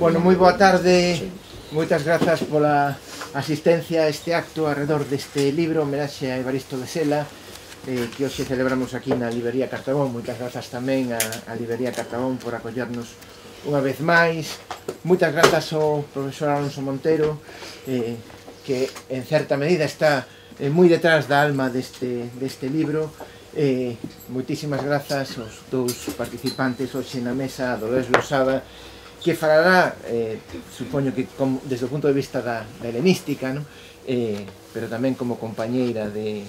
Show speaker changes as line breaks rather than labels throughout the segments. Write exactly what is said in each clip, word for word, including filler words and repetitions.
Bueno, moi boa tarde, moitas grazas pola asistencia a este acto alrededor deste libro, homenaxe a Evaristo de Sela, eh, que hoxe celebramos aquí na Librería Cartabón. Moitas grazas tamén a, a Librería Cartabón por acollernos unha vez máis. Moitas grazas ao profesor Alonso Montero, eh, que en certa medida está eh, moi detrás da alma deste, deste libro. Eh, moitísimas grazas aos dous participantes hoxe na mesa, a Dolores Losada, que falará, eh, supoño que como, desde o punto de vista da, da helenística, ¿no? eh, pero tamén como compañeira de,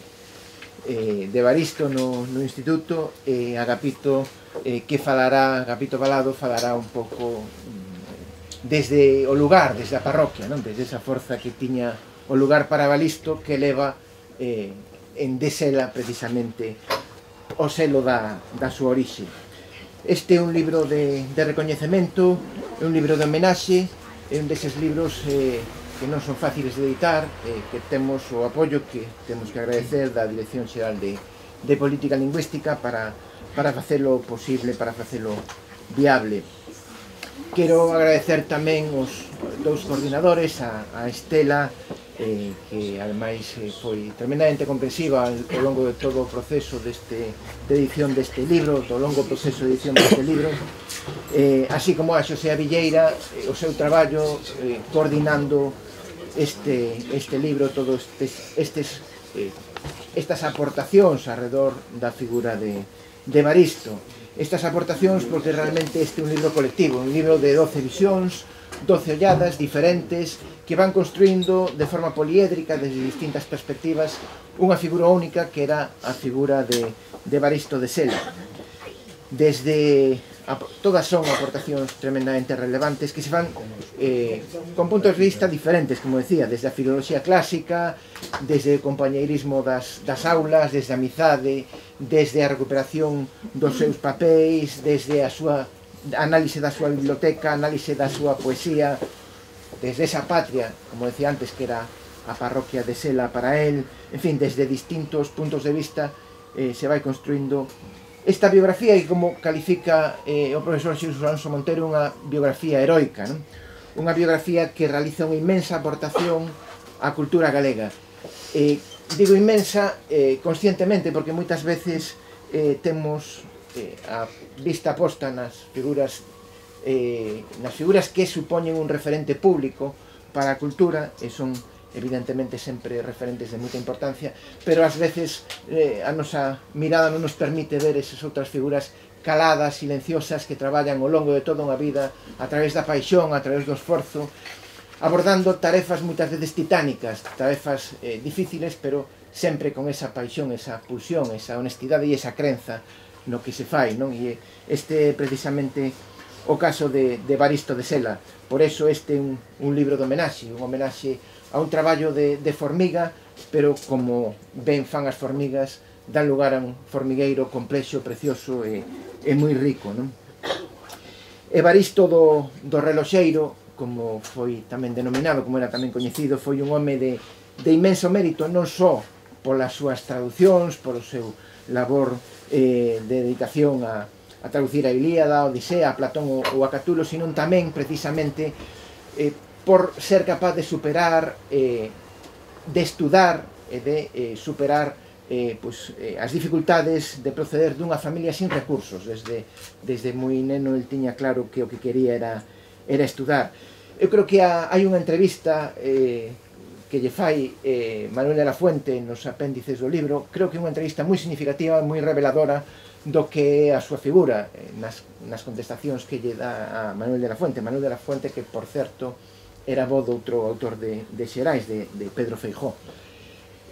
eh, de Evaristo no, no instituto, e eh, Agapito, eh, que falará, Agapito Balado falará un pouco mm, desde o lugar, desde a parroquia, ¿no? Desde esa forza que tiña o lugar para Evaristo, que leva eh, en de Sela precisamente o selo da, da súa orixe. Este é un libro de, de recoñecemento, é un libro de homenaxe, é un deses libros eh, que non son fáciles de editar, eh, que temos o apoio que temos que agradecer da Dirección Xeral de, de Política Lingüística para, para facelo posible, para facelo viable. Quero agradecer tamén os dous coordinadores, a, a Estela, eh, que ademais eh, foi tremendamente comprensiva ao longo de todo o proceso deste, de edición deste libro, do longo proceso de edición deste libro, eh, así como a Xosé Villeira, eh, o seu traballo eh, coordinando este, este libro, todos estes, estes, eh, estas aportacións alrededor da figura de, de Evaristo. Estas aportacións porque realmente este é un libro colectivo, un libro de doce visións, doce olladas diferentes que van construindo de forma poliédrica desde distintas perspectivas unha figura única que era a figura de, de Evaristo de Sela. Desde a, todas son aportacións tremendamente relevantes que se van eh, con puntos de vista diferentes, como decía, desde a filoloxía clásica, desde o compañeirismo das, das aulas, desde a amizade, desde a recuperación dos seus papéis, desde a súa análise da súa biblioteca, análise da súa poesía, desde esa patria, como decía antes, que era a parroquia de Sela para él, en fin, desde distintos puntos de vista eh, se vai construindo esta biografía, e como califica eh, o profesor Xesús Alonso Montero, unha biografía heroica, non? Unha biografía que realiza unha inmensa aportación á cultura galega. Eh, digo inmensa eh, conscientemente, porque moitas veces eh, temos eh, a vista posta nas figuras eh, nas figuras que supoñen un referente público para a cultura, e son evidentemente sempre referentes de moita importancia, pero ás veces eh, a nosa mirada non nos permite ver esas outras figuras caladas, silenciosas, que traballan ao longo de toda unha vida a través da paixón, a través do esforzo, abordando tarefas moitas veces titánicas, tarefas eh, difíciles, pero sempre con esa paixón, esa pulsión, esa honestidade e esa crenza no que se fai, non? E este é precisamente o caso de, de Evaristo de Sela. Por eso este é un, un libro de homenaxe, un homenaxe a un traballo de, de formiga, pero como ben fan as formigas, dan lugar a un formigueiro complexo, precioso e, e moi rico, non? Evaristo do, do reloxeiro, como foi tamén denominado, como era tamén coñecido, foi un home de, de inmenso mérito, non só polas súas traducións, polo seu labor eh, de dedicación a, a traducir a Ilíada, a Odisea, a Platón ou, ou a Catulo, sino tamén precisamente eh, por ser capaz de superar, eh, de estudar e de eh, superar eh, pues, eh, as dificultades de proceder dunha familia sin recursos. Desde, desde moi neno el tiña claro que o que quería era, era estudar. Eu creo que ha, hai unha entrevista eh, que lle fai eh, Manuel de la Fuente nos apéndices do libro. Creo que é unha entrevista moi significativa, moi reveladora do que é a súa figura, eh, nas, nas contestacións que lle dá a Manuel de la Fuente. Manuel de la Fuente, que, por certo, era voz do outro autor de, de Xerais, de, de Pedro Feijó.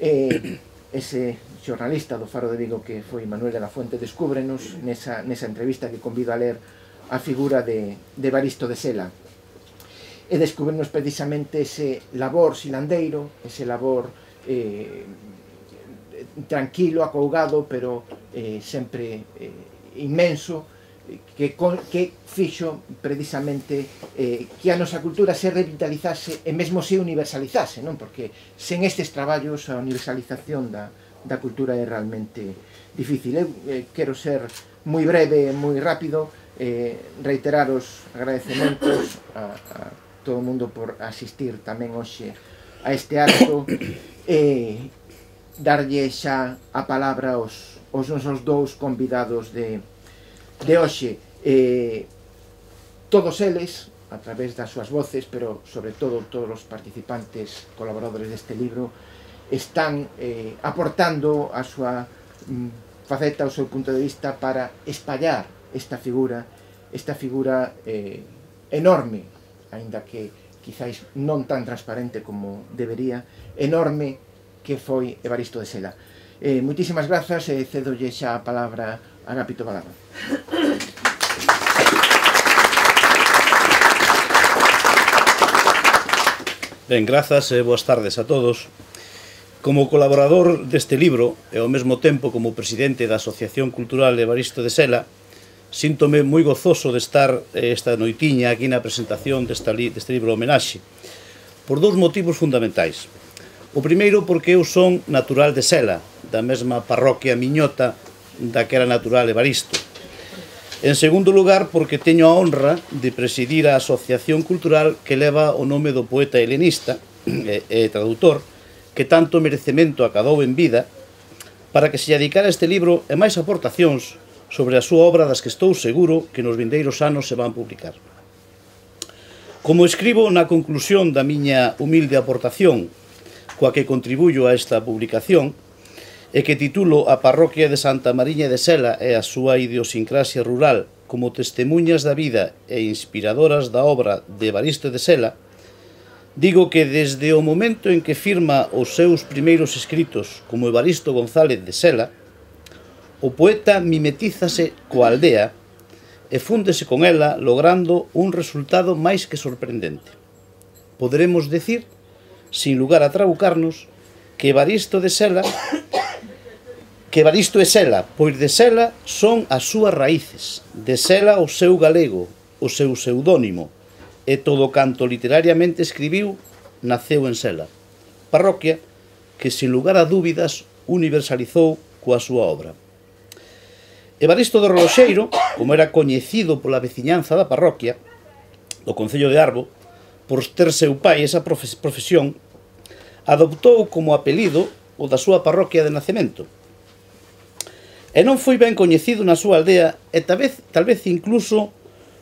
Eh, ese xornalista do Faro de Vigo que foi Manuel de la Fuente descúbrenos nesa, nesa entrevista que convido a ler a figura de, de Evaristo de Sela. E descúbrenos precisamente ese labor silandeiro, ese labor eh, tranquilo, acougado, pero eh, sempre eh, inmenso, que, que fixo precisamente eh, que a nosa cultura se revitalizase e mesmo se universalizase, non? Porque sen estes traballos a universalización da, da cultura é realmente difícil. Eu eh, quero ser moi breve, moi rápido, eh, reiterar os agradecementos a, a todo o mundo por asistir tamén hoxe a este acto e darlle xa a palabra aos, aos nosos dous convidados de, de hoxe. Eh, todos eles, a través das súas voces, pero sobre todo todos os participantes, colaboradores deste libro, están eh, aportando a súa mm, faceta, o seu punto de vista para espallar esta figura, esta figura eh, enorme, aínda que quizáis non tan transparente como debería, enorme que foi Evaristo de Sela. Eh, moitísimas grazas e cedolle xa a palabra a Agapito Balada.
Ben, grazas e boas tardes a todos. Como colaborador deste libro e ao mesmo tempo como presidente da Asociación Cultural Evaristo de Sela, síntome moi gozoso de estar esta noitiña aquí na presentación desta li, deste libro homenaxe, por dous motivos fundamentais. O primeiro porque eu son natural de Sela, da mesma parroquia miñota da que era natural Evaristo. En segundo lugar, porque teño a honra de presidir a asociación cultural que leva o nome do poeta helenista e, e traductor que tanto merecemento acadou en vida para que se dedicara este libro e máis aportacións sobre a súa obra das que estou seguro que nos vindeiros anos se van publicar. Como escribo na conclusión da miña humilde aportación coa que contribuyo a esta publicación e que titulo A parroquia de Santa Mariña de Sela e a súa idiosincrasia rural como testemunhas da vida e inspiradoras da obra de Evaristo de Sela, digo que desde o momento en que firma os seus primeiros escritos como Evaristo González de Sela, o poeta mimetízase coa aldea e fúndese con ela logrando un resultado máis que sorprendente. Poderemos decir, sin lugar a trabucarnos, que Evaristo de Sela que Evaristo é Sela, pois de Sela son as súas raíces, de Sela o seu galego, o seu pseudónimo, e todo canto literariamente escribiu naceu en Sela, parroquia que, sin lugar a dúbidas, universalizou coa súa obra. Evaristo do Reloxeiro, como era coñecido pola veciñanza da parroquia, do concello de Arbo, por ter seu pai esa profesión, adoptou como apelido o da súa parroquia de nacemento. E non foi ben coñecido na súa aldea e tal vez, tal vez incluso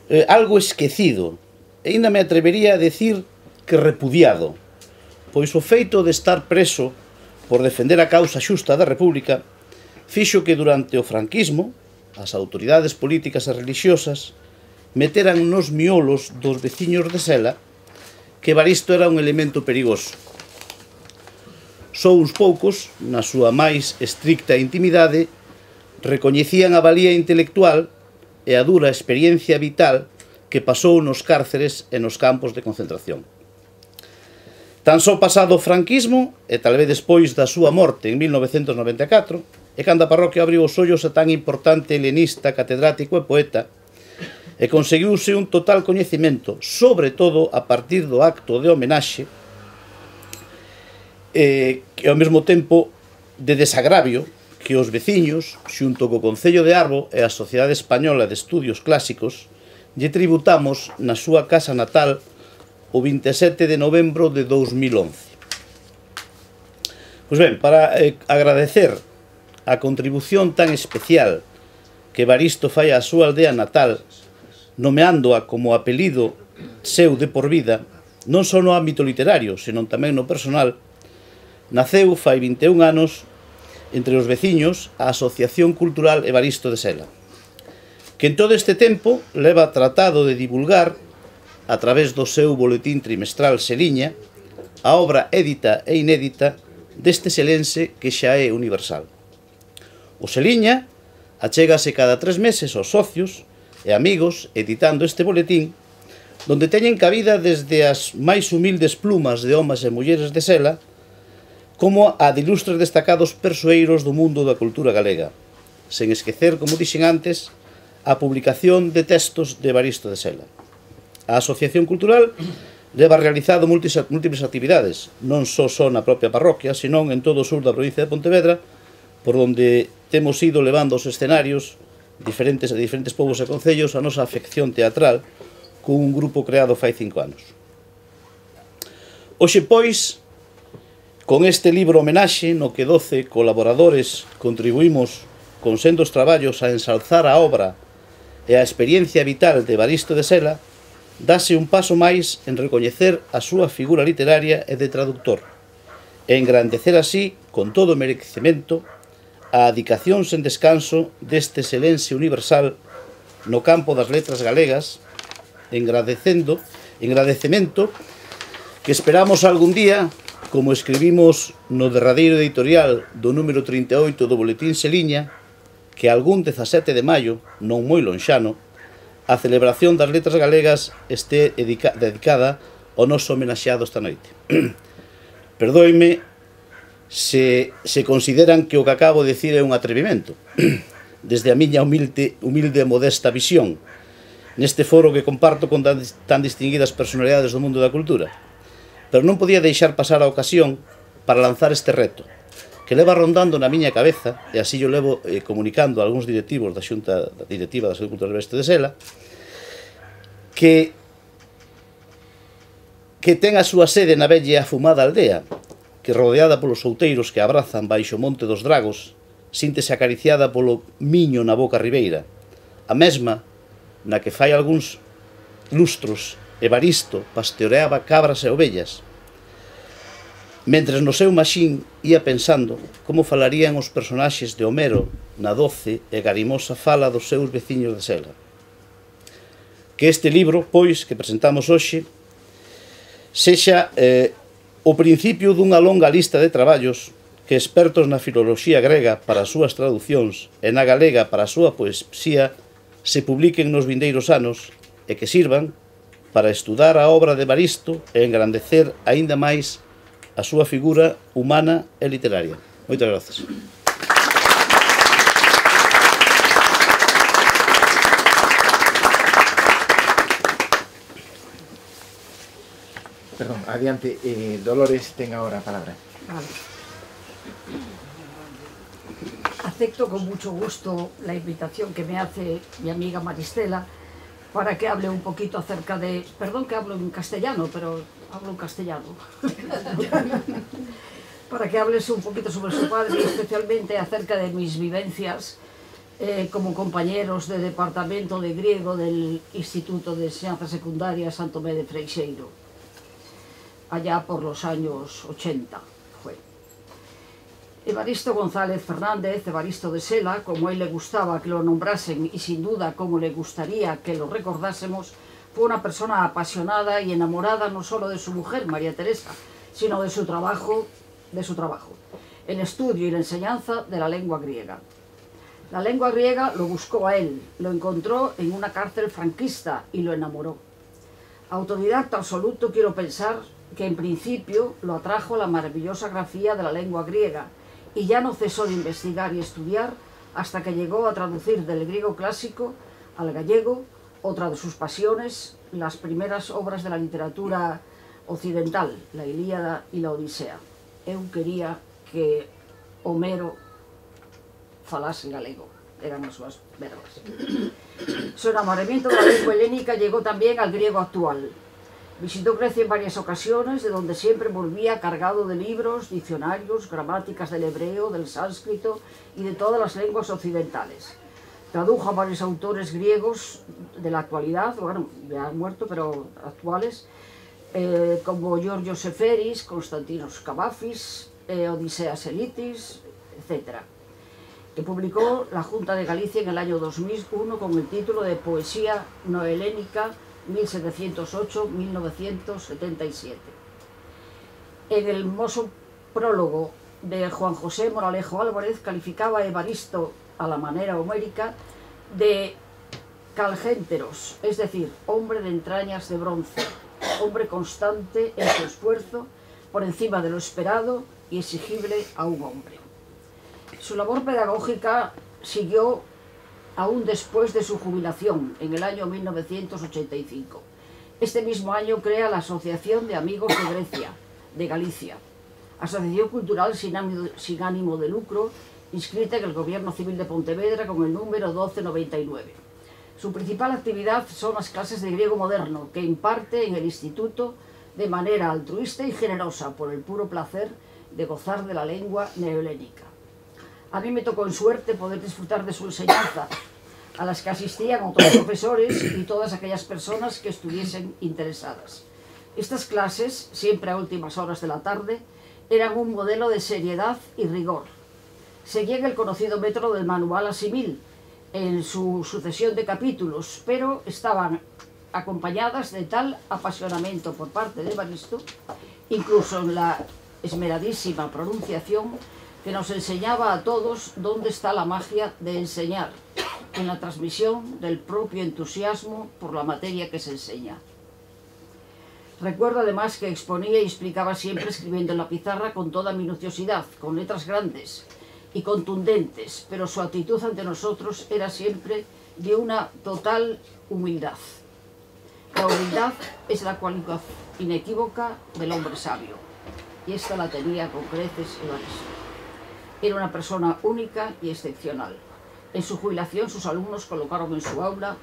eh, algo esquecido, e ainda me atrevería a decir que repudiado, pois o feito de estar preso por defender a causa xusta da República fixo que durante o franquismo as autoridades políticas e religiosas meteran nos miolos dos veciños de Sela que Evaristo era un elemento perigoso. Só uns poucos, na súa máis estricta intimidade, recoñecían a valía intelectual e a dura experiencia vital que pasou nos cárceres e nos campos de concentración. Tan só pasado o franquismo, e tal vez despois da súa morte en mil novecentos noventa e catro, e cando a parroquia abriu os ollos a tan importante helenista, catedrático e poeta, e conseguiuse un total coñecemento, sobre todo a partir do acto de homenaxe, e que ao mesmo tempo de desagravio que os veciños, xunto co Concello de Arbo e a Sociedade Española de Estudios Clásicos, lle tributamos na súa casa natal o vinte e sete de novembro de dous mil once. Pois ben, para eh, agradecer a contribución tan especial que Evaristo fai á súa aldea natal, nomeándoa como apelido seu de por vida, non só no ámbito literario, senón tamén no personal, naceu fai vinte e un anos entre os veciños a Asociación Cultural Evaristo de Sela, que en todo este tempo leva tratado de divulgar, a través do seu boletín trimestral Seliña, a obra édita e inédita deste selense que xa é universal. O Seliña achégase cada tres meses aos socios e amigos editando este boletín, donde teñen cabida desde as máis humildes plumas de homes e mulleres de Sela, como a de ilustres destacados persoeiros do mundo da cultura galega, sen esquecer, como dixen antes, a publicación de textos de Evaristo de Sela. A Asociación Cultural leva realizado múltiples actividades, non só só na propia parroquia, senón en todo o sur da provincia de Pontevedra, por onde temos ido levando os escenarios diferentes, de diferentes povos e concellos a nosa afección teatral cun grupo creado fai cinco anos. Hoxe, pois, con este libro homenaxe no que doce colaboradores contribuímos con sendos traballos a ensalzar a obra e a experiencia vital de Evaristo de Sela, dase un paso máis en recoñecer a súa figura literaria e de traductor, e engrandecer así, con todo o merecemento, a adicación sen descanso deste selense universal no campo das letras galegas, engradecendo, engradecemento que esperamos algún día, como escribimos no derradeiro editorial do número trinta e oito do Boletín Seliña, que algún dezasete de maio, non moi lonxano, a celebración das letras galegas este dedicada ao noso homenaxeado esta noite. Perdoime se, se consideran que o que acabo de dicir é un atrevimento, desde a miña humilde, humilde e modesta visión, neste foro que comparto con tan, tan distinguidas personalidades do mundo da cultura. Pero non podía deixar pasar a ocasión para lanzar este reto, que leva rondando na miña cabeza, e así yo levo eh, comunicando a algúns directivos da Xunta Directiva da Xunta Cultural Evaristo de Sela, que, que ten a súa sede na bella afumada aldea, que rodeada polos outeiros que abrazan baixo o Monte dos Dragos, síntese acariciada polo miño na boca ribeira, a mesma na que fai algúns lustros Evaristo pastoreaba cabras e ovellas, mentres no seu maxín ia pensando como falarían os personaxes de Homero na doce e garimosa fala dos seus veciños de Sela. Que este libro, pois, que presentamos hoxe, sexa eh, o principio dunha longa lista de traballos que expertos na filoloxía grega para as súas traducións e na galega para a súa poesía se publiquen nos vindeiros anos e que sirvan para estudar a obra de Evaristo e engrandecer aínda máis a súa figura humana e literaria. Moitas grazas.
Perdón, adiante, eh, Dolores ten agora a palabra.
Vale. Acepto con mucho gusto la invitación que me hace mi amiga Maristela para que hable un poquito acerca de... Perdón que hablo en castellano, pero hablo en castellano. Para que hables un poquito sobre su padre y especialmente acerca de mis vivencias eh, como compañeros de departamento de griego del Instituto de Enseñanza Secundaria Santo Tomé de Freixeiro, allá por los años ochenta. Fue. Evaristo González Fernández, Evaristo de Sela, como a él le gustaba que lo nombrasen y sin duda como le gustaría que lo recordásemos, fue una persona apasionada y enamorada no solo de su mujer, María Teresa, sino de su trabajo, de su trabajo, el estudio y la enseñanza de la lengua griega. La lengua griega lo buscó a él, lo encontró en una cárcel franquista y lo enamoró. Autodidacta absoluto, quiero pensar que en principio lo atrajo la maravillosa grafía de la lengua griega, y ya no cesó de investigar y estudiar hasta que llegó a traducir del griego clásico al gallego, otra de sus pasiones, las primeras obras de la literatura occidental, la Ilíada y la Odisea. Eu quería que Homero falase galego, eran as súas verbas. Su enamoramiento de la lengua helénica llegó también al griego actual. Visitó Grecia en varias ocasiones, de donde siempre volvía cargado de libros, diccionarios, gramáticas del hebreo, del sánscrito y de todas las lenguas occidentales. Tradujo a varios autores griegos de la actualidad, bueno, ya han muerto, pero actuales, eh, como Giorgio Seferis, Constantinos Cavafis, eh, Odiseas Elitis, etcétera, que publicó la Junta de Galicia en el año dos mil uno con el título de Poesía Nohelénica mil setecientos ocho a mil novecientos setenta y siete. En el hermoso prólogo de Juan José Moralejo Álvarez calificaba a Evaristo a la manera homérica de calgénteros, es decir, hombre de entrañas de bronce, hombre constante en su esfuerzo, por encima de lo esperado y exigible a un hombre. Su labor pedagógica siguió aún después de su jubilación, en el año mil novecientos ochenta y cinco. Este mismo año crea la Asociación de Amigos de Grecia, de Galicia, asociación cultural sin ánimo, sin ánimo de lucro, inscrita en el Gobierno Civil de Pontevedra con el número doce noventa y nueve. Su principal actividad son las clases de griego moderno que imparte en el instituto de manera altruista y generosa por el puro placer de gozar de la lengua neohelénica. A mí me tocó en suerte poder disfrutar de su enseñanza, a las que asistían otros profesores y todas aquellas personas que estuviesen interesadas. Estas clases, siempre a últimas horas de la tarde, eran un modelo de seriedad y rigor. Seguían el conocido método del manual asimil en su sucesión de capítulos, pero estaban acompañadas de tal apasionamiento por parte de Evaristo, incluso en la esmeradísima pronunciación, que nos enseñaba a todos dónde está la magia de enseñar, en la transmisión del propio entusiasmo por la materia que se enseña. Recuerdo además que exponía y explicaba siempre escribiendo en la pizarra con toda minuciosidad, con letras grandes y contundentes, pero su actitud ante nosotros era siempre de una total humildad. La humildad es la cualidad inequívoca del hombre sabio, y esta la tenía con creces Evaristo. Era una persona única y excepcional. En su jubilación sus alumnos colocaron en su aula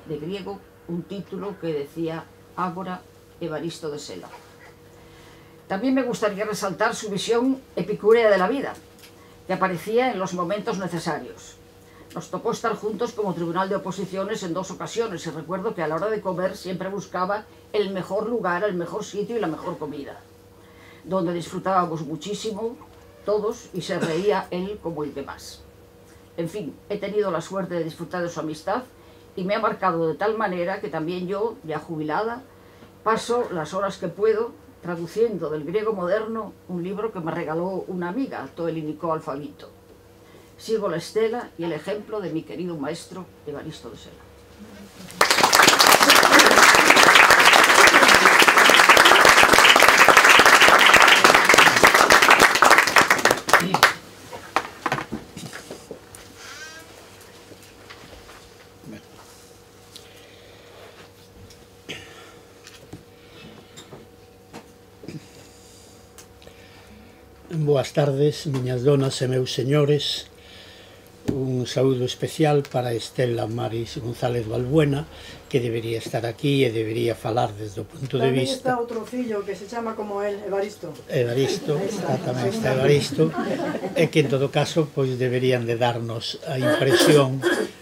de griego un título que decía Ágora Evaristo de Sela. También me gustaría resaltar su visión epicúrea de la vida, que aparecía en los momentos necesarios. Nos tocó estar juntos como tribunal de oposiciones en dos ocasiones y recuerdo que a la hora de comer siempre buscaba el mejor lugar, el mejor sitio y la mejor comida, donde disfrutábamos muchísimo todos y se reía él como el que más. En fin, he tenido la suerte de disfrutar de su amistad y me ha marcado de tal manera que también yo, ya jubilada, paso las horas que puedo traduciendo del griego moderno un libro que me regaló una amiga, To Elinikó Alfabito. Sigo la estela y el ejemplo de mi querido maestro Evaristo de Sela.
Boas tardes, miñas donas e meus señores. Un saúdo especial para Estela Maris González Balbuena, que debería estar aquí e debería falar desde o punto de
Tamén
vista...
está outro fillo que se chama como él, Evaristo.
Evaristo, está, tamén está Evaristo, e que en todo caso pois deberían de darnos a impresión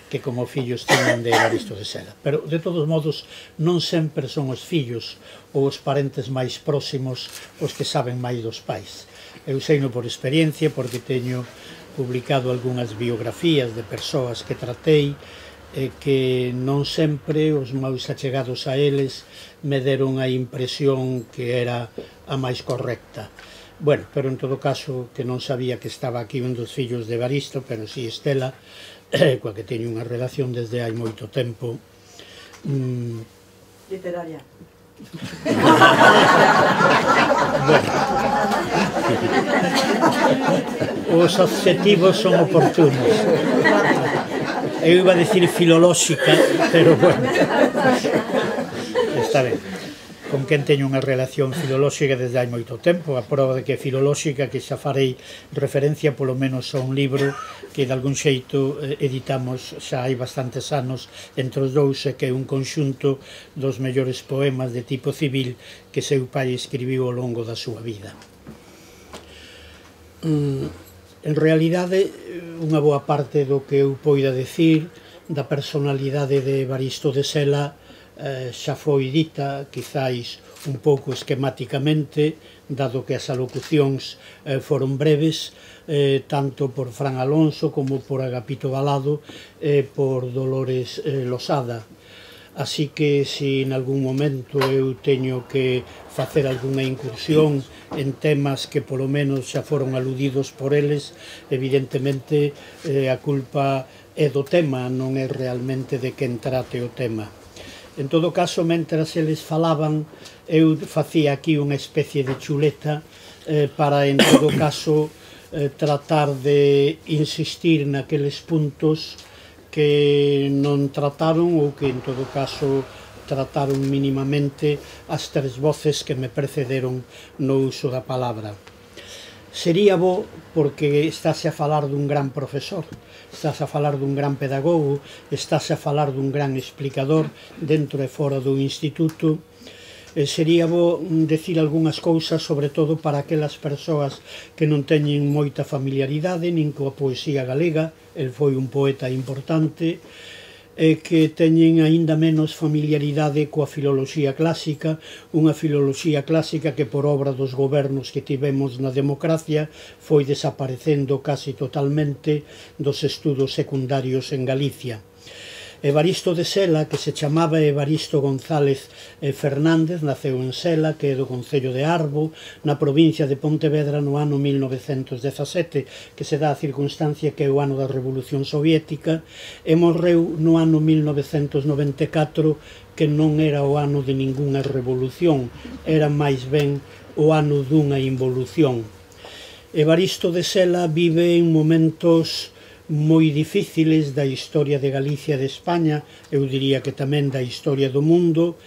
que como fillos tiñan de Evaristo de Sela. Pero, de todos modos, non sempre son os fillos ou os parentes máis próximos os que saben máis dos pais. Eu seino por experiencia, porque teño publicado algunhas biografías de persoas que tratei e que non sempre os máis achegados a eles me deron a impresión que era a máis correcta. Bueno, pero en todo caso que non sabía que estaba aquí un dos fillos de Evaristo, pero si Estela, eh, coa que teño unha relación desde hai moito tempo. Mm,
Literaria.
Bueno, os adjetivos son oportunos. Eu iba a decir filolóxica, pero bueno, está ben. Con quen teño unha relación filolóxica desde hai moito tempo, a prova de que é filolóxica, que xa farei referencia polo menos a un libro que de algún xeito editamos xa hai bastantes anos entre os dous, e que é un conxunto dos mellores poemas de tipo civil que seu pai escribiu ao longo da súa vida. En realidade, unha boa parte do que eu poida decir da personalidade de Evaristo de Sela Eh, xa foi dita, quizáis un pouco esquematicamente, dado que as alocucións eh, foron breves, eh, tanto por Fran Alonso como por Agapito Balado e eh, por Dolores eh, Losada. Así que, se en algún momento eu teño que facer algunha incursión en temas que polo menos xa foron aludidos por eles, evidentemente eh, a culpa é do tema, non é realmente de quen trate o tema. En todo caso, mentras eles falaban, eu facía aquí unha especie de chuleta eh, para, en todo caso, eh, tratar de insistir naqueles puntos que non trataron ou que, en todo caso, trataron mínimamente as tres voces que me precederon no uso da palabra. Sería bo porque estáse a falar dun gran profesor, estáse a falar dun gran pedagogo, estáse a falar dun gran explicador dentro e fora do instituto. Eh, sería bo decir algunhas cousas, sobre todo para aquelas persoas que non teñen moita familiaridade nin coa poesía galega. El foi un poeta importante, e que teñen aínda menos familiaridade coa filoloxía clásica, unha filoloxía clásica que por obra dos gobernos que tivemos na democracia foi desaparecendo casi totalmente dos estudos secundarios en Galicia. Evaristo de Sela, que se chamaba Evaristo González Fernández, naceu en Sela, que é do concello de Arbo, na provincia de Pontevedra, no ano mil novecentos dezasete, que se dá a circunstancia que é o ano da Revolución Soviética, e morreu no ano mil novecentos noventa e catro, que non era o ano de ningunha revolución, era máis ben o ano dunha involución. Evaristo de Sela vive en momentos moi difíciles da historia de Galicia e de España, eu diría que tamén da historia do mundo.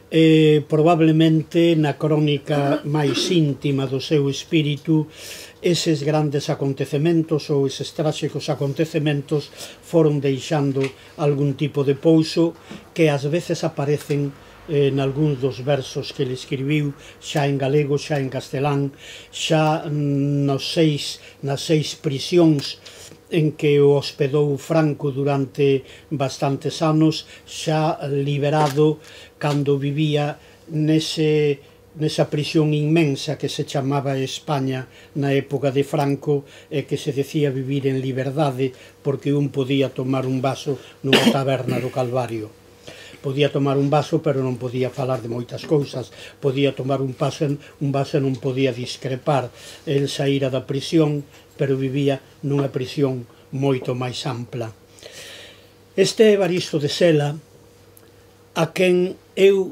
Eh, probablemente na crónica máis íntima do seu espírito, eses grandes acontecementos ou eses tráxicos acontecementos foron deixando algún tipo de pouso que ás veces aparecen en algúns dos versos que ele escribiu, xa en galego, xa en castelán, xa nos seis, nas seis prisións en que o hospedou Franco durante bastantes anos, xa liberado cando vivía nese, nesa prisión inmensa que se chamaba España na época de Franco, e que se decía vivir en liberdade porque un podía tomar un vaso nunha taberna do Calvario. Podía tomar un vaso, pero non podía falar de moitas cousas. Podía tomar un vaso, un vaso e non podía discrepar. El saíra da prisión, pero vivía nunha prisión moito máis ampla. Este Evaristo de Sela, a quen eu,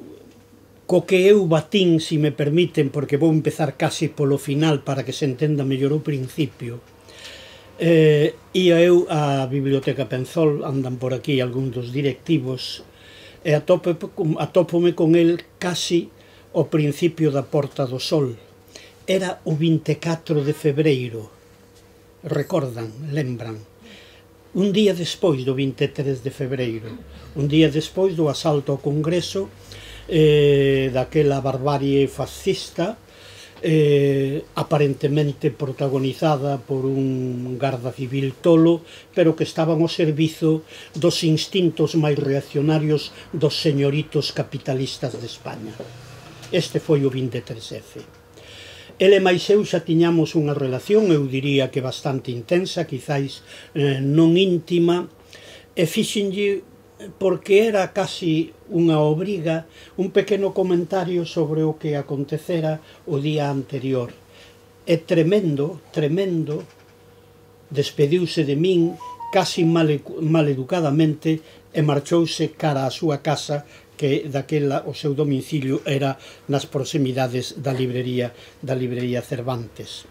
co que eu batín, se me permiten, porque vou empezar casi polo final para que se entenda mellor o principio, eh, ia eu á Biblioteca Penzol, andan por aquí algúns dos directivos, e atópome con el casi ao principio da Porta do Sol. Era o vinte e catro de febreiro, recordan, lembran, un día despois do vinte e tres de febreiro, un día despois do asalto ao Congreso, eh, daquela barbarie fascista, eh, aparentemente protagonizada por un garda civil tolo, pero que estaban ao servizo dos instintos máis reaccionarios dos señoritos capitalistas de España. Este foi o vinte e tres F. Ele máis eu xa tiñamos unha relación, eu diría que bastante intensa, quizáis eh, non íntima, e fixenlle, porque era casi unha obriga, un pequeno comentario sobre o que acontecera o día anterior. E tremendo, tremendo, despediuse de min casi maleducadamente e marchouse cara á súa casa, que daquela o seu domicilio era nas proximidades da librería, da librería Cervantes.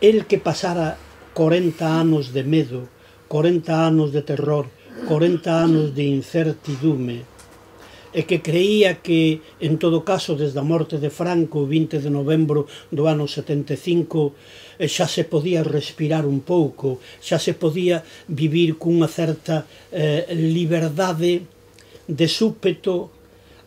El que pasara corenta anos de medo, corenta anos de terror, corenta anos de incertidume, e que creía que, en todo caso, desde a morte de Franco, o vinte de novembro do ano setenta e cinco, xa se podía respirar un pouco, xa se podía vivir cunha certa eh, liberdade de súpeto,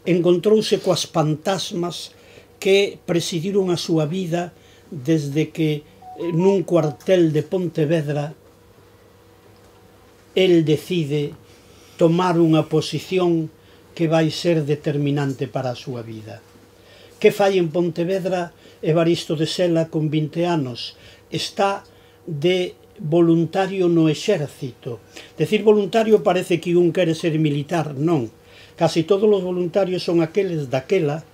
encontrouse coas fantasmas que presidiron a súa vida desde que nun cuartel de Pontevedra el decide tomar unha posición que vai ser determinante para a súa vida. Que fai en Pontevedra Evaristo de Sela con vinte anos? Está de voluntario no exército. Decir voluntario parece que un quere ser militar, non. Casi todos os voluntarios son aqueles daquela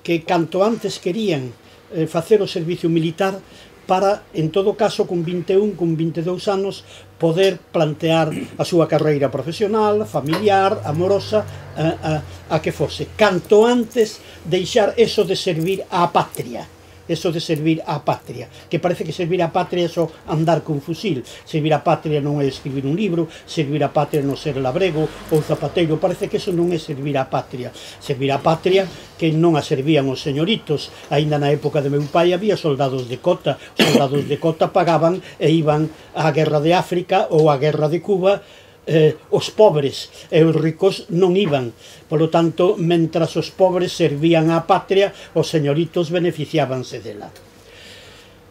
que canto antes querían eh, facer o servicio militar para, en todo caso, con vinte e un, con vinte e dous anos, poder plantear a súa carreira profesional, familiar, amorosa, a, a, a que fose. Canto antes deixar eso de servir á patria, eso de servir á patria, que parece que servir á patria é só andar con fusil. Servir á patria non é escribir un libro, servir á patria non ser labrego ou zapateiro, parece que eso non é servir á patria. Servir á patria que non a servían os señoritos, aínda na época de meu pai había soldados de cota, os soldados de cota pagaban e iban á guerra de África ou á guerra de Cuba. Eh, os pobres e os ricos non iban, polo tanto, mentras os pobres servían á patria, os señoritos beneficiábanse dela.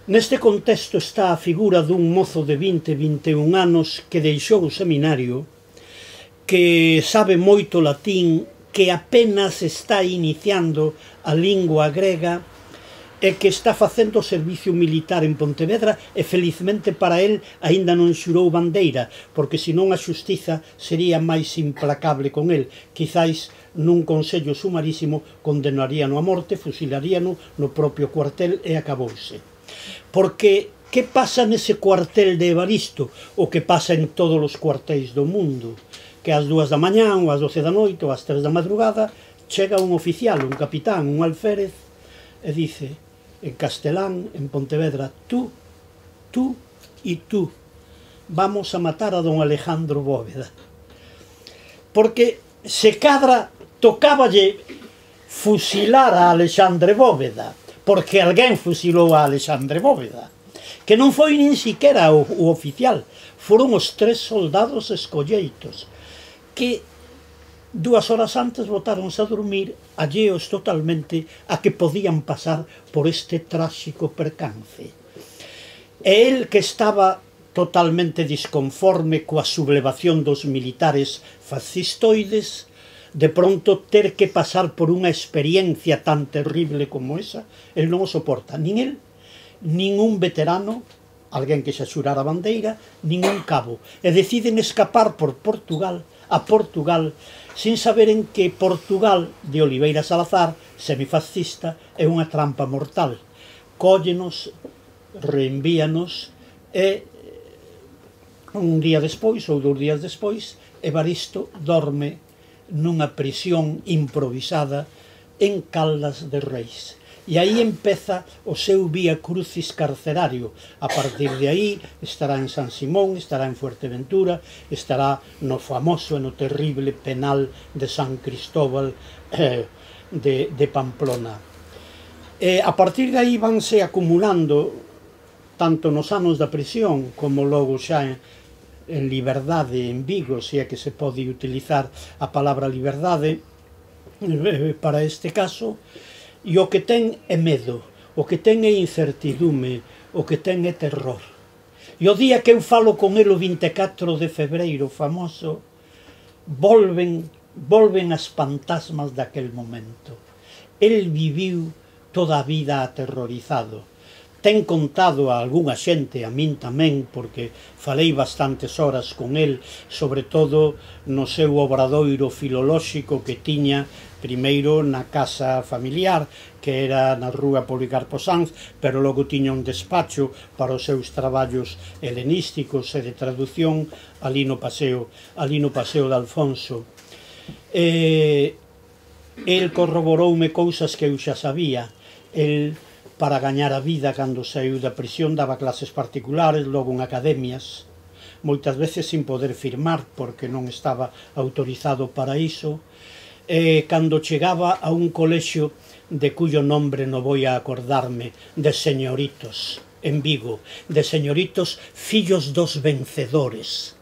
Neste contexto está a figura dun mozo de vinte, vinte e un anos que deixou o seminario, que sabe moito latín, que apenas está iniciando a lingua grega e que está facendo servicio militar en Pontevedra e felizmente para el aínda non xurou bandeira, porque senón a xustiza sería máis implacable con el. Quizáis nun consello sumarísimo condenaríano a morte, fusilaríano no propio cuartel e acabouse. Porque que pasa nese cuartel de Evaristo? O que pasa en todos os cuartéis do mundo, que ás dúas da mañá, ou ás doce da noite, ou ás tres da madrugada, chega un oficial, un capitán, un alférez, e dice en castelán, en Pontevedra, tú, tú e tú, vamos a matar a don Alejandro Bóveda. Porque se cadra tocáballe fusilar a Alexandre Bóveda, porque alguén fusilou a Alexandre Bóveda, que non foi nin siquiera o, o oficial, foron os tres soldados escolleitos, que dúas horas antes botáronse a dormir, alleos totalmente a que podían pasar por este tráxico percance. E el, que estaba totalmente disconforme coa sublevación dos militares fascistoides, de pronto ter que pasar por unha experiencia tan terrible como esa, el non o soporta, nin el, nin un veterano, alguén que xa xurara a bandeira, nin un cabo, e deciden escapar por Portugal, a Portugal, sin saberen que Portugal de Oliveira Salazar, semifascista, é unha trampa mortal. Cóllenos, reenvíanos e un día despois ou dous días despois Evaristo dorme nunha prisión improvisada en Caldas de Reis. E aí empeza o seu vía crucis carcerario. A partir de aí estará en San Simón, estará en Fuerteventura, estará no famoso e no terrible penal de San Cristóbal eh, de, de Pamplona. E a partir de aí vanse acumulando, tanto nos anos da prisión como logo xa en, en liberdade en Vigo, se é que se pode utilizar a palabra liberdade eh, para este caso. E o que ten é medo, o que ten é incertidume, o que ten é terror. E o día que eu falo con el o vinte e catro de febreiro famoso, volven, volven as fantasmas daquel momento. El viviu toda a vida aterrorizado. Ten contado a algunha xente, a min tamén, porque falei bastantes horas con el, sobre todo no seu obradoiro filolóxico que tiña primeiro na casa familiar, que era na rúa Policarpo Sanz, pero logo tiña un despacho para os seus traballos helenísticos e de traducción ali no paseo, ali no paseo de Alfonso. E el corroboroume cousas que eu xa sabía. El, para gañar a vida, cando saiu da prisión, daba clases particulares, logo en academias, moitas veces sin poder firmar, porque non estaba autorizado para iso. E cando chegaba a un colexio de cuyo nombre non vou a acordarme, de señoritos, en Vigo, de señoritos fillos dos vencedores.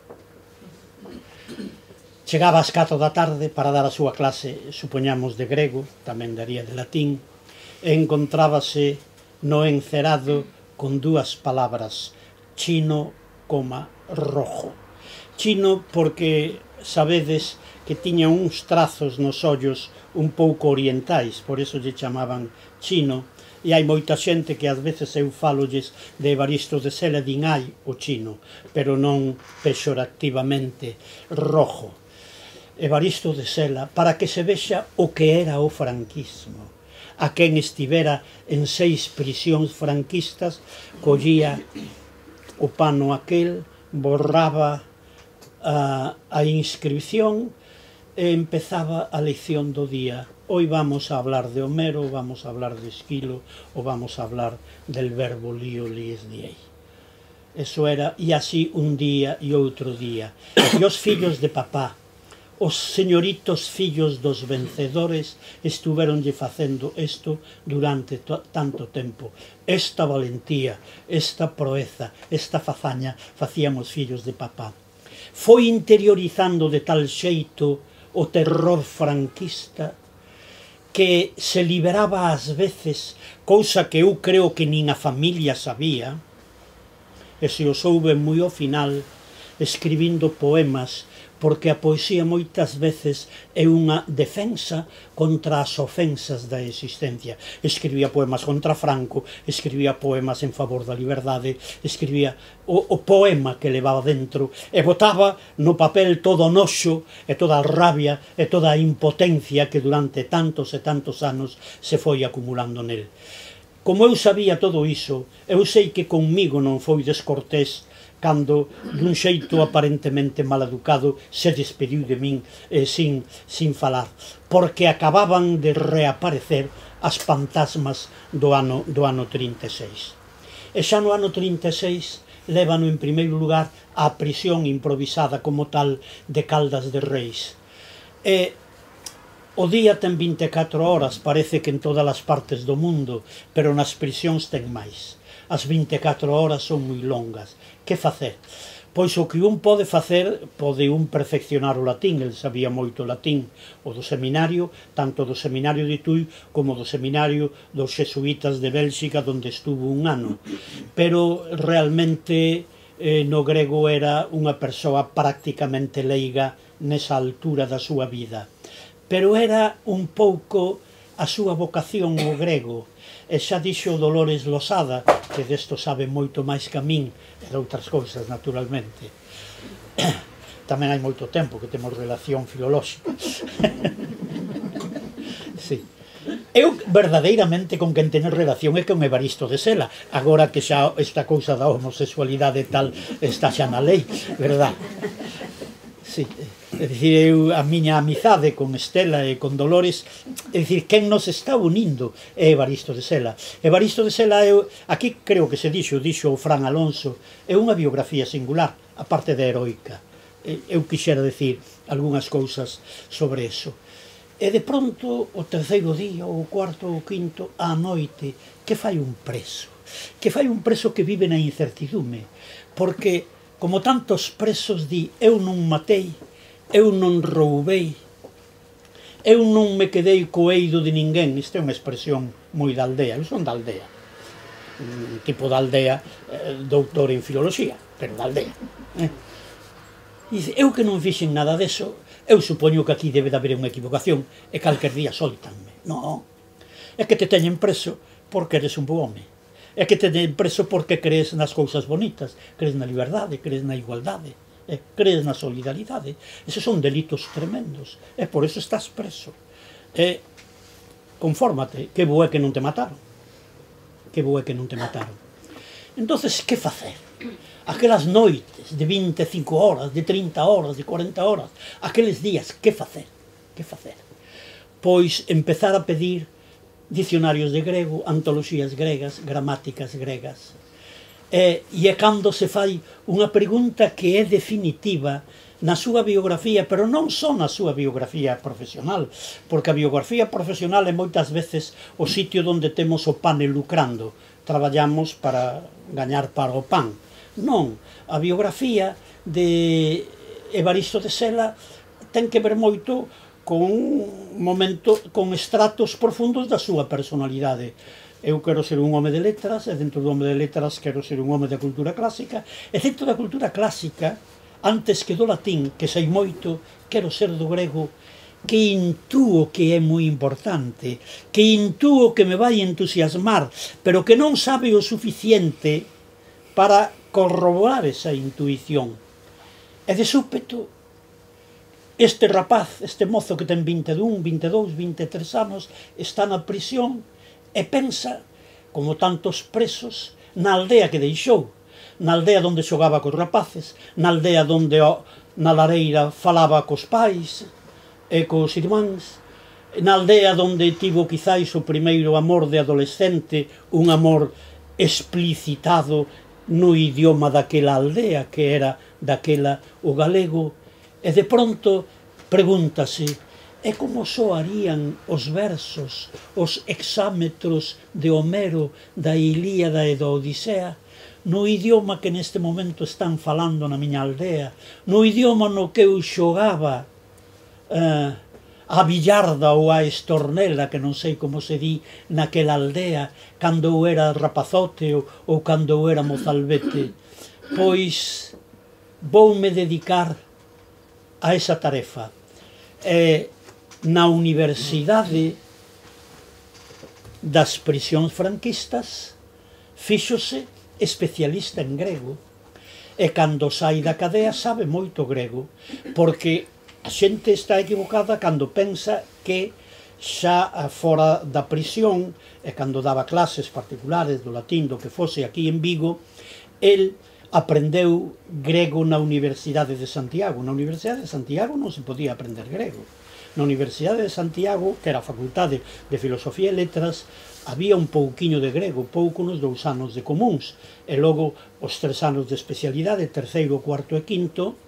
Chegaba ás catro da tarde para dar a súa clase, supoñamos de grego, tamén daría de latín, e encontrábase no encerado con dúas palabras, chino, coma, rojo. Chino porque sabedes que tiña uns trazos nos ollos un pouco orientais, por eso lle chamaban chino, e hai moita xente que ás veces eu falolles de Evaristo de Sela, din ai o chino, pero non pexorativamente, rojo. Evaristo de Sela, para que se vexa o que era o franquismo. A quen estivera en seis prisións franquistas, collía o pano aquel, borraba a, a inscripción e empezaba a lección do día. Hoy vamos a hablar de Homero, vamos a hablar de Esquilo, ou vamos a hablar del verbo lío, lies, diei. Eso era, e así un día e outro día. E os fillos de papá, os señoritos fillos dos vencedores, estuveronlle facendo isto durante tanto tempo. Esta valentía, esta proeza, esta fazaña facíamos fillos de papá. Foi interiorizando de tal xeito o terror franquista que se liberaba ás veces, cousa que eu creo que nin a familia sabía, e se o soube moi ao final, escribindo poemas, porque a poesía moitas veces é unha defensa contra as ofensas da existencia. Escribía poemas contra Franco, escribía poemas en favor da liberdade, escribía o, o poema que levaba dentro, e botaba no papel todo o noxo, e toda a rabia, e toda a impotencia que durante tantos e tantos anos se foi acumulando nel. Como eu sabía todo iso, eu sei que conmigo non foi descortés cando, dun xeito aparentemente maleducado, se despediu de min eh, sin, sin falar, porque acababan de reaparecer as fantasmas do ano, do ano trinta e seis. E xa no ano trinta e seis lévano en primeiro lugar á prisión improvisada como tal de Caldas de Reis. E o día ten vinte e catro horas, parece que en todas as partes do mundo, pero nas prisións ten máis. As vinte e catro horas son moi longas. Que facer? Pois o que un pode facer, pode un perfeccionar o latín, el sabía moito latín, o do seminario, tanto do seminario de Tui como do seminario dos xesuítas de Bélxica, onde estuvo un ano. Pero realmente eh, no grego era unha persoa prácticamente leiga nesa altura da súa vida. Pero era un pouco a súa vocación o grego. E xa dixo Dolores Losada, que desto sabe moito máis que a min, e de outras cousas, naturalmente. Tamén hai moito tempo que temos relación filolóxica. Sí. Eu, verdadeiramente, con quen tener relación é con Evaristo de Sela, agora que xa esta cousa da homosexualidade tal está xa na lei, verdad? Sí. É dicir, eu, a miña amizade con Estela e con Dolores, é dicir, quen nos está unindo é Evaristo de Sela. Evaristo de Sela, eu, aquí creo que se dixo, dixo o Fran Alonso, é unha biografía singular, a parte de heroica. Eu quixera decir algunhas cousas sobre eso. E de pronto, o terceiro día, o cuarto, o quinto, á noite, que fai un preso? Que fai un preso que vive na incertidume? Porque, como tantos presos di, eu non matei, eu non roubei, eu non me quedei coeido de ninguén. Isto é unha expresión moi da aldea, eu son da aldea, un tipo da aldea, eh, doutor en filoloxía, pero da aldea. Eh? E dice, eu que non fixen nada deso, eu supoño que aquí debe de haber unha equivocación, e calquer día soltanme. Non, é que te teñen preso porque eres un bo home, é que te teñen preso porque crees nas cousas bonitas, crees na liberdade, crees na igualdade, e crees na solidaridade. Esos son delitos tremendos, e por eso estás preso. E confórmate, que bo é que non te mataron, que bo é que non te mataron. Entonces, que facer? Aquelas noites de vinte e cinco horas, de trinta horas, de cuarenta horas, aqueles días, que facer? Que facer? Pois empezar a pedir dicionarios de grego, antoloxías gregas, gramáticas gregas. E, e é cando se fai unha pregunta que é definitiva na súa biografía, pero non só na súa biografía profesional, porque a biografía profesional é moitas veces o sitio onde temos o pane lucrando, traballamos para gañar para o pan. Non, a biografía de Evaristo de Sela ten que ver moito con momento, con estratos profundos da súa personalidade. Eu quero ser un home de letras, e dentro do home de letras quero ser un home da cultura clásica, e dentro da cultura clásica, antes que do latín, que sei moito, quero ser do grego, que intúo que é moi importante, que intúo que me vai entusiasmar, pero que non sabe o suficiente para corroborar esa intuición. E de súpeto, este rapaz, este mozo que ten vinte e un, vinte e dous, vinte e tres anos, está na prisión, e pensa, como tantos presos, na aldea que deixou, na aldea onde xogaba cos rapaces, na aldea onde na lareira falaba cos pais, e cos irmáns, na aldea onde tivo quizáis o primeiro amor de adolescente, un amor explicitado no idioma daquela aldea, que era daquela o galego, e de pronto pregúntase: e como soarían os versos, os hexámetros de Homero da Ilíada e da Odisea, no idioma que neste momento están falando na miña aldea, no idioma no que eu xogaba uh, a billarda ou a estornela, que non sei como se di naquela aldea, cando eu era rapazote ou, ou cando eu era mozalbete. Pois voume dedicar a esa tarefa. E na Universidade das Prisións Franquistas fíxose especialista en grego, e cando sai da cadea sabe moito grego, porque a xente está equivocada cando pensa que xa fora da prisión, e cando daba clases particulares do latín, do que fose aquí en Vigo, el aprendeu grego na Universidade de Santiago. Na Universidade de Santiago non se podía aprender grego. Na Universidade de Santiago, que era a Facultade de Filosofía e Letras, había un pouquiño de grego, pouco nos dous anos de comuns, e logo os tres anos de especialidade, terceiro, cuarto e quinto,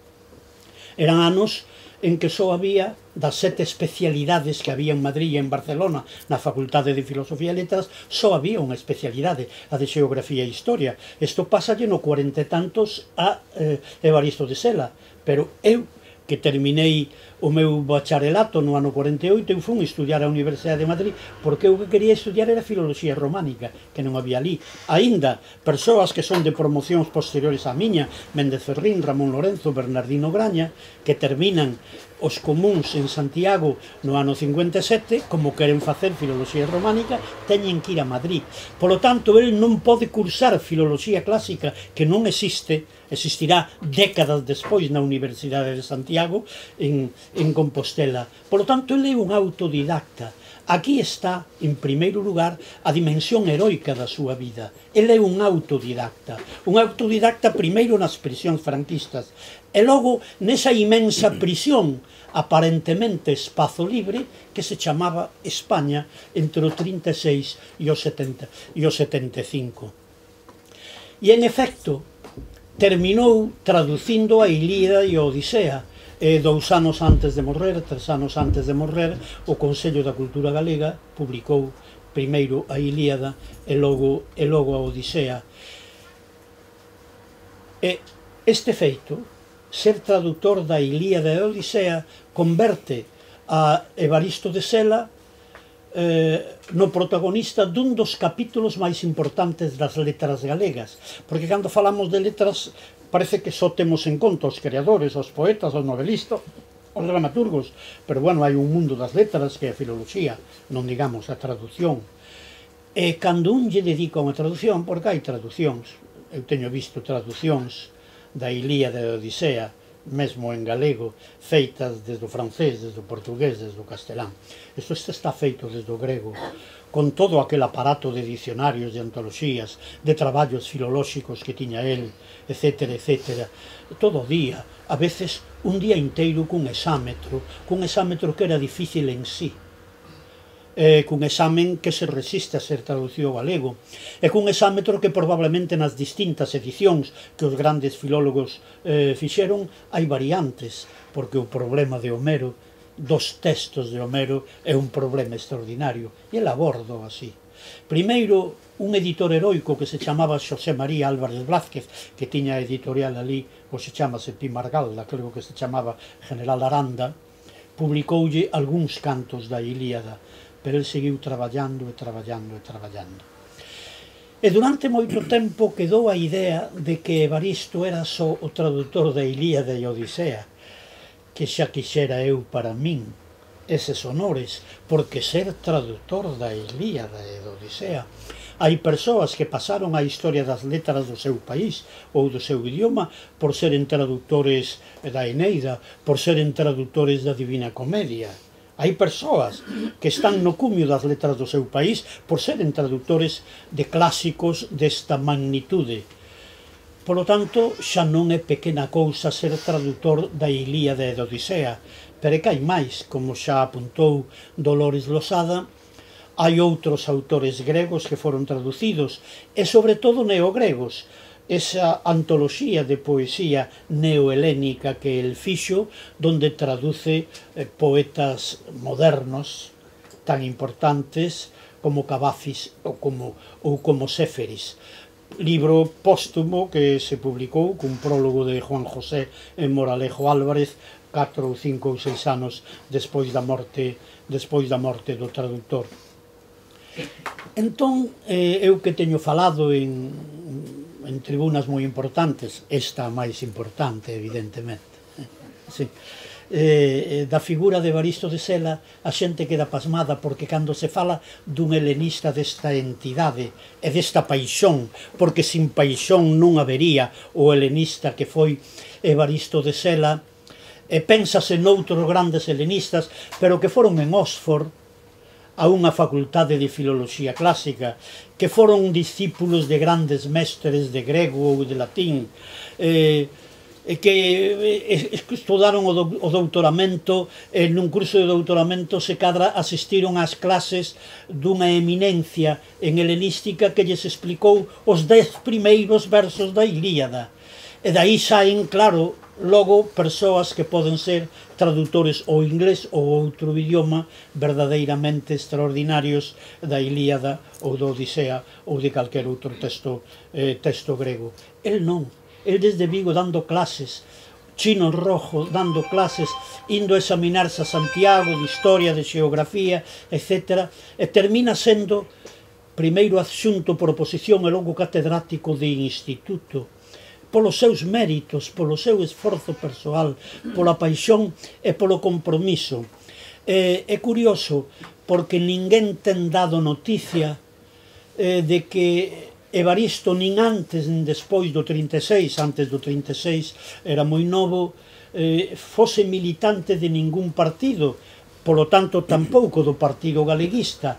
eran anos en que só había, das sete especialidades que había en Madrid e en Barcelona na Facultade de Filosofía e Letras, só había unha especialidade, a de Xeografía e Historia. Isto pasalle no cuarenta e tantos a eh, Evaristo de Sela, pero eu, que terminei o meu bacharelato no ano cuarenta e oito, eu fui estudiar a Universidade de Madrid, porque eu que quería estudiar era Filoloxía Románica, que non había ali. Aínda, persoas que son de promocións posteriores á miña, Méndez Ferrín, Ramón Lorenzo, Bernardino Graña, que terminan os comuns en Santiago no ano cincuenta e sete, como queren facer Filoloxía Románica, teñen que ir a Madrid. Polo tanto, el non pode cursar Filoloxía Clásica, que non existe, existirá décadas despois na Universidade de Santiago, en, en Compostela. Polo tanto, ele é un autodidacta. Aquí está, en primeiro lugar, a dimensión heroica da súa vida. Ele é un autodidacta. Un autodidacta primeiro nas prisións franquistas, e logo nesa imensa prisión, aparentemente espazo libre, que se chamaba España entre o trinta e seis e o setenta e o setenta e cinco. E, en efecto, terminou traducindo a Ilíada e a Odisea, e dous anos antes de morrer, tres anos antes de morrer, o Consello da Cultura Galega publicou primeiro a Ilíada e logo, e logo a Odisea. E este feito, ser traductor da Ilíada e a Odisea, converte a Evaristo de Sela eh, no protagonista dun dos capítulos máis importantes das letras galegas, porque cando falamos de letras parece que só temos en conta os creadores, os poetas, os novelistas, os dramaturgos, pero bueno, hai un mundo das letras que é a filoloxía, non digamos a traducción. E cando un lle dedica unha traducción, porque hai traducións, eu teño visto traducións da Ilíada e da Odisea, mesmo en galego, feitas desde o francés, desde o portugués, desde o castelán. Isto está feito desde o grego, con todo aquel aparato de dicionarios, de antoloxías, de traballos filolóxicos que tiña el, etcétera, etcétera. Todo o día, a veces un día inteiro cun exámetro, cun exámetro que era difícil en sí, eh, cun examen que se resiste a ser traducido ao galego, e cun exámetro que probablemente nas distintas edicións que os grandes filólogos eh, fixeron hai variantes, porque o problema de Homero, dos textos de Homero, é un problema extraordinario, e el abordo así. Primeiro, un editor heroico que se chamaba Xosé María Álvarez Blázquez, que tiña editorial ali, ou se chamase Pimargalda, creo que se chamaba General Aranda, publicoulle algúns cantos da Ilíada, pero el seguiu traballando e traballando e traballando. E durante moito tempo quedou a idea de que Evaristo era só o traductor da Ilíada e Odisea, que xa quixera eu para min eses honores, porque ser traductor da Ilíada e da Odisea. Hai persoas que pasaron a historia das letras do seu país ou do seu idioma por seren traductores da Eneida, por seren traductores da Divina Comedia. Hai persoas que están no cumio das letras do seu país por seren traductores de clásicos desta magnitude. Polo tanto, xa non é pequena cousa ser tradutor da Ilíada e da Odisea, pero é que hai máis, como xa apuntou Dolores Losada, hai outros autores gregos que foron traducidos, e sobre todo neogregos, esa antoloxía de poesía neohelénica que el fixo, donde traduce poetas modernos tan importantes como Cavafis ou como, ou como Séferis. Libro póstumo que se publicou cun prólogo de Juan José en Moralejo Álvarez catro ou cinco ou seis anos despois da morte despois da morte do traductor. Entón, eh, eu que teño falado en, en tribunas moi importantes, esta máis importante, evidentemente, sí. Eh, da figura de Evaristo de Sela, a xente queda pasmada porque cando se fala dun helenista desta entidade e desta paixón, porque sin paixón non habería o helenista que foi Evaristo de Sela, e pénsase noutros grandes helenistas, pero que foron en Oxford a unha facultade de filoloxía clásica, que foron discípulos de grandes mestres de grego ou de latín, eh, e que estudaron o doutoramento, e nun curso de doutoramento se cadra asistiron ás clases dunha eminencia en helenística que lles explicou os dez primeiros versos da Ilíada. E daí saen, claro, logo persoas que poden ser tradutores ou inglés ou outro idioma verdadeiramente extraordinarios da Ilíada ou da Odisea ou de calquer outro texto, eh, texto grego. El non. El desde Vigo dando clases, Chino Rojo dando clases, indo a examinarse a Santiago de Historia, de Xeografía, etcétera, e termina sendo primeiro adxunto por oposición e logo catedrático de instituto, polos seus méritos, polo seu esforzo persoal, pola paixón e polo compromiso. É, é curioso, porque ninguén ten dado noticia eh, de que Evaristo nin antes nin despois do trinta e seis, antes do trinta e seis era moi novo, eh, fose militante de ningún partido, polo tanto tampouco do Partido Galeguista.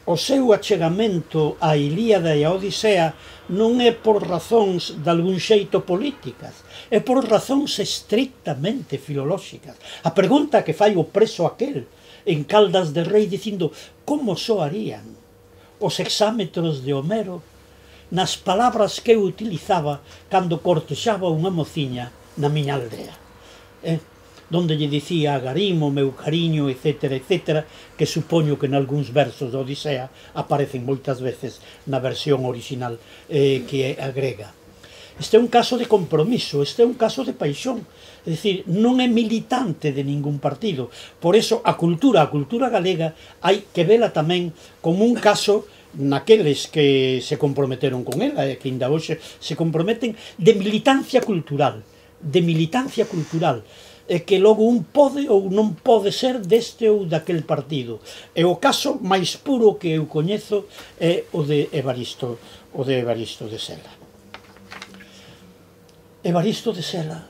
O seu achegamento á Ilíada e á Odisea non é por razóns de algún xeito políticas, é por razóns estrictamente filolóxicas. A pregunta que fai o preso aquel en Caldas de Rei dicindo como soarían os hexámetros de Homero nas palabras que eu utilizaba cando cortexaba unha mociña na miña aldea, eh? Donde lle dicía a Garimo, meu cariño, etcétera, etcétera, que supoño que en algúns versos da Odisea aparecen moitas veces na versión original eh, que é a grega. Este é un caso de compromiso, este é un caso de paixón, é dicir, non é militante de ningún partido. Por eso a cultura, a cultura galega, hai que vela tamén como un caso naqueles que se comprometeron con ela e que ainda hoxe se comprometen de militancia cultural, de militancia cultural, e que logo un pode ou non pode ser deste ou daquel partido. E o caso máis puro que eu coñezo é o de Evaristo, o de Evaristo de Sela. Evaristo de Sela,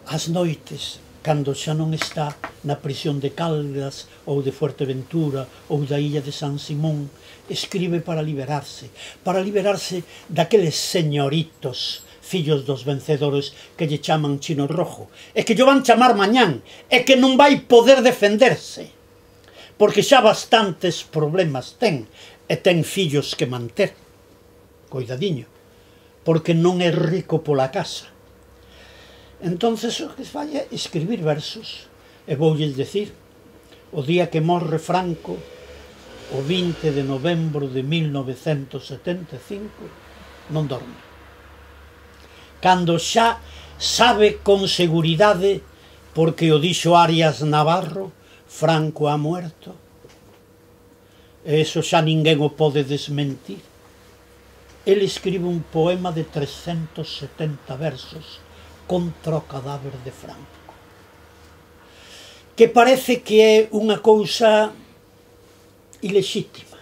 ás noites, cando xa non está na prisión de Caldas ou de Fuerteventura ou da illa de San Simón, escribe para liberarse, para liberarse daqueles señoritos, fillos dos vencedores que lle chaman Chino Rojo, e que lle van chamar mañán, e que non vai poder defenderse, porque xa bastantes problemas ten, e ten fillos que manter, coidadiño, porque non é rico pola casa. Entonces o que fai é escribir versos, e voulles decir, o día que morre Franco, o vinte de novembro de mil novecentos setenta e cinco, non dorme. Cando xa sabe con seguridade, porque o dixo Arias Navarro, Franco ha muerto, e eso xa ninguén o pode desmentir. El escribe un poema de trescentos setenta versos contra o cadáver de Franco, que parece que é unha cousa ilexítima,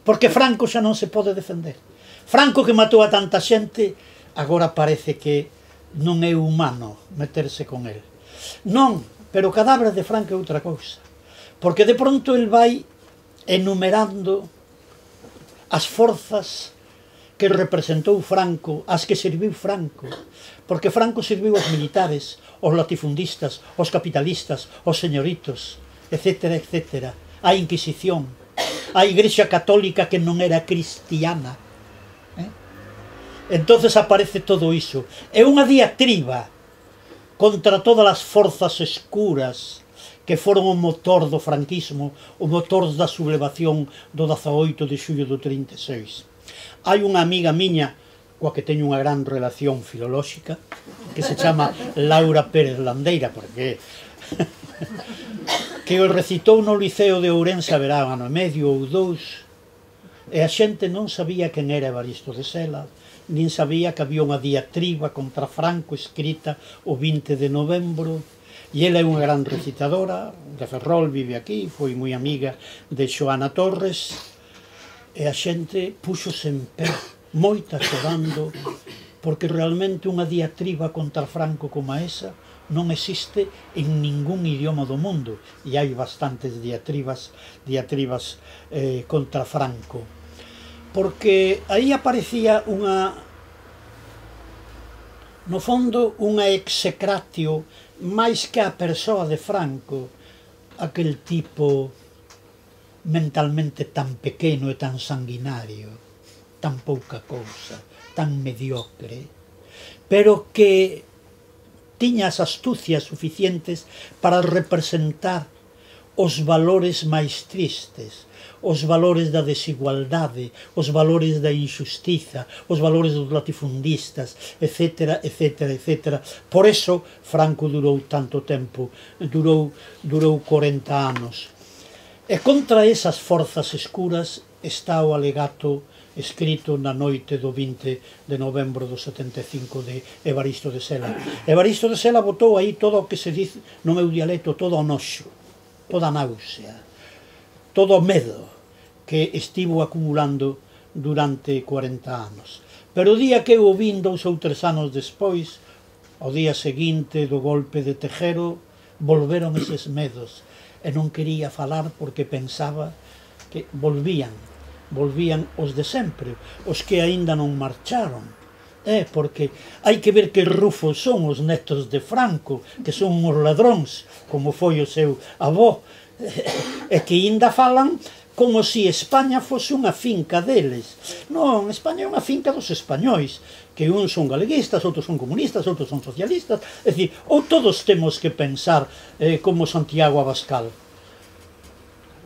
porque Franco xa non se pode defender. Franco, que matou a tanta xente, agora parece que non é humano meterse con el. Non, pero o cadáver de Franco é outra cousa, porque de pronto el vai enumerando as forzas que representou Franco, as que serviu Franco, porque Franco serviu aos militares, aos latifundistas, aos capitalistas, aos señoritos, etcétera, etcétera, a Inquisición, a Igrexa Católica que non era cristiana. Eh? Entonces aparece todo iso. É unha diatriba contra todas as forzas escuras que foron o motor do franquismo, o motor da sublevación do dezaoito de xullo do trinta e seis. Hai unha amiga miña coa que teño unha gran relación filolóxica que se chama Laura Pérez Landeira, porque que o recitou no Liceo de Ourense a verá ano e medio ou dous, e a xente non sabía quen era Evaristo de Sela, nin sabía que había unha diatriba contra Franco escrita o vinte de novembro, e ela é unha gran recitadora de Ferrol, vive aquí, foi moi amiga de Xoana Torres, e a xente puxose en pé, moita chorando, porque realmente unha diatriba contra Franco como esa non existe en ningún idioma do mundo, e hai bastantes diatribas, diatribas eh, contra Franco, porque aí aparecía unha, no fondo, unha execratio máis que a persoa de Franco, aquel tipo mentalmente tan pequeno e tan sanguinario, tan pouca cousa, tan mediocre, pero que tiña as astucias suficientes para representar os valores máis tristes, os valores da desigualdade, os valores da injustiza, os valores dos latifundistas, etcétera, etcétera, etcétera. Por eso Franco durou tanto tempo, durou, durou corenta anos. E contra esas forzas escuras está o alegato escrito na noite do vinte de novembro do setenta e cinco de Evaristo de Sela. Evaristo de Sela botou aí todo o que se dice no meu dialecto, todo o noxo, toda a náusea, todo o medo que estivo acumulando durante corenta anos. Pero o día que eu o vin dous ou tres anos despois, o día seguinte do golpe de Tejero, volveron eses medos, e non quería falar porque pensaba que volvían, volvían os de sempre, os que aínda non marcharon. É, porque hai que ver que rufos son os netos de Franco, que son uns ladróns, como foi o seu avó, e que aínda falan como se España fose unha finca deles. Non, España é unha finca dos españois, que uns son galeguistas, outros son comunistas, outros son socialistas, é dicir, ou todos temos que pensar eh, como Santiago Abascal.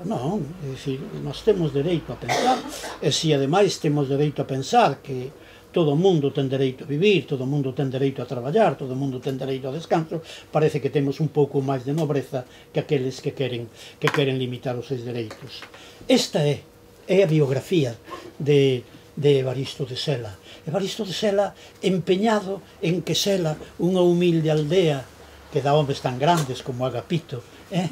Non, é dicir, nós temos dereito a pensar, e se ademais temos dereito a pensar que todo o mundo ten dereito a vivir, todo o mundo ten dereito a traballar, todo o mundo ten dereito a descanso, parece que temos un pouco máis de nobreza que aqueles que queren, que queren limitar os seus dereitos. Esta é, é a biografía de, de Evaristo de Sela. Evaristo de Sela empeñado en que Sela, unha humilde aldea que dá homes tan grandes como Agapito, eh?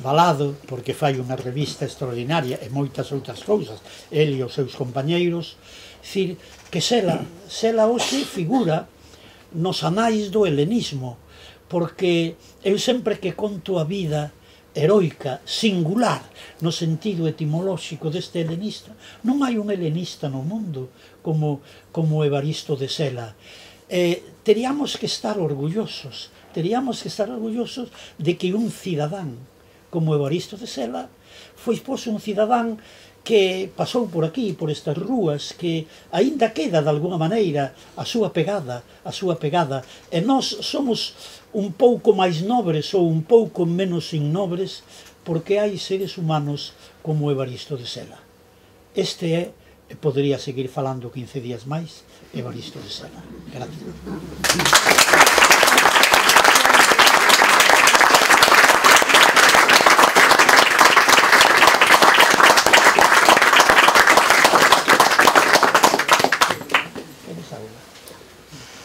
Valado, porque fai unha revista extraordinaria e moitas outras cousas, el e os seus compañeiros, dicir, que Sela, Sela hoxe figura nos anais do helenismo, porque eu sempre que conto a vida heroica, singular, no sentido etimolóxico deste helenista, non hai un helenista no mundo como, como Evaristo de Sela. Eh, teríamos que estar orgullosos, teríamos que estar orgullosos de que un cidadán como Evaristo de Sela foi pois un cidadán que pasou por aquí, por estas rúas, que aínda queda de alguna maneira a súa pegada, a súa pegada, e nós somos un pouco máis nobres ou un pouco menos innobres porque hai seres humanos como Evaristo de Sela. Este é, e podería seguir falando quince días máis, Evaristo de Sela. Gracias.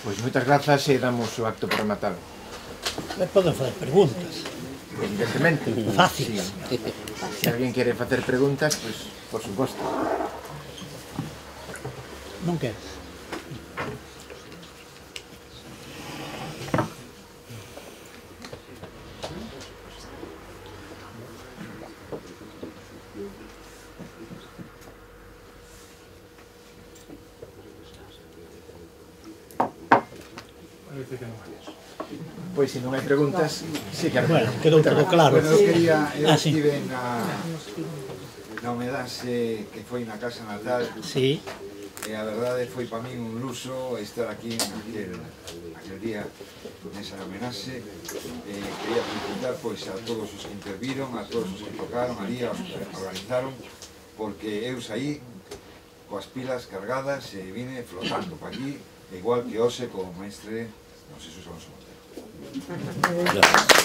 Pois moitas grazas e damos o acto por rematado.
Me poden fazer preguntas.
Evidentemente.
Fácil.
Si, si alguén quere facer preguntas, pois, por suposto.
Non queres?
Pois, se non hai preguntas, sí que hai
Bueno, quedou todo claro.
Bueno, eu quería, eu
Ah, sí.
estive na, na homenaxe que foi na casa natal,
Sí,
e a verdade foi para min un luso estar aquí naquel, naquel día, nesa homenaxe. Eh, quería felicitar pois, a todos os que interviron, a todos os que tocaron ali, aos que organizaron, porque eu saí coas pilas cargadas e vine flotando para aquí, igual que hoxe co maestre non sei se son Montero.
Gracias.